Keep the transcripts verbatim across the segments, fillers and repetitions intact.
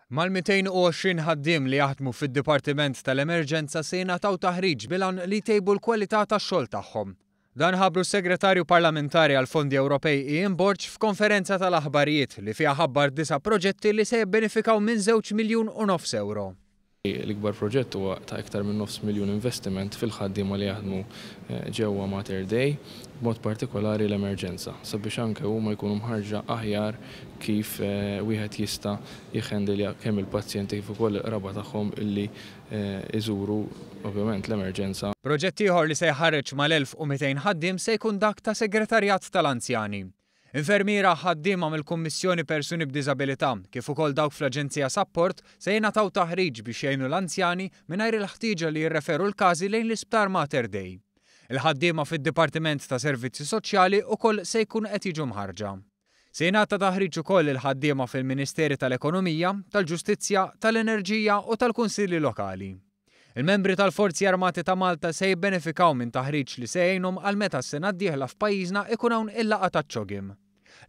Mal-mitejn u għoxrin ħaddiem li jaħdmu fid-Dipartiment tal-Emerġenza se jingħataw taħriġ bil-għan li jtejbu l-kwalità tax-xogħol tagħhom. Dan ħabbru s-Segretarju Parlamentari għall-Fondi Ewropej Ian Borg f'konferenza tal-aħbarijiet li fiha ħabbar disa' proġetti li se jibbenefikaw minn żewġ miljun u nofs euro. L-ikbar proġett huwa ta' iktar minn nofs miljun investiment fil-ħaddiema li jaħdmu ġewwa Mater Dei, b'mod partikolari l-emerġenza, sabiex anke huma jkunu mħarġa aħjar kif wieħed jista' jħendilja kemm il-pazjenti kif ukoll il-qraba tagħhom illi iżuru ovvjament l-emerġenza. Proġett ieħor li se jħarreġ mal-elf u mitejn ħaddiem se jkun dak ta' segretarjat tal-anzjani. Infermiera ħaddiema mill-Kummissjoni Persuni b'Diżabilità kif ukoll dawk fl-Aġenzija Sapport se jingħataw taħriġ biex jgħinu l-anzjani mingħajr il-ħtieġa li jirreferu l-każi lejn l-Isptar Mater Dei. Il-ħaddiema fid-Dipartiment ta' Servizzi Soċjali ukoll se jkun qed jiġu mħarġa. Se jingħata taħriġ ukoll il-ħaddiema fil-Ministeri tal-Ekonomija, tal-Ġustizzja, tal-Enerġija u tal-Kunsilli Lokali. Il-membri tal-Forzi Armati ta' Malta se jibbenefikaw minn taħriġ li se jgħinhom għal meta s-sena d-dieħla f'pajjiżna ikun hawn il-laqgħa taċ-CHOGM.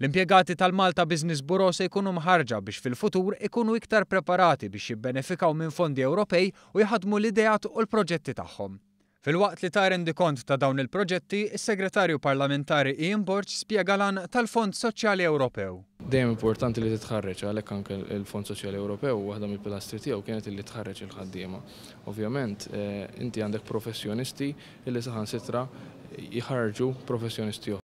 L-impjegati tal-Malta Business Bureau se jkunu mħarġa biex fil-futur ikunu iktar preparati biex jibbenefikaw minn fondi Ewropej u jħadmu l-ideat u l-proġetti tagħhom. Filwaqt li ta rendikont ta' dawn il-proġetti, is-Segretarju Parlamentari Ian Borg spjega l-għan tal-Fond Soċjali Ewropew. Dejjem importanti li titħarreġ, għalhekk anke il-Fond Soċjali Ewropew waħda mill-pilastri tiegħu kienet li tħarreġ il-ħaddiema. Ovvjament, inti għandek professjonisti illi saħansitra jħarġu professjonisti oħra.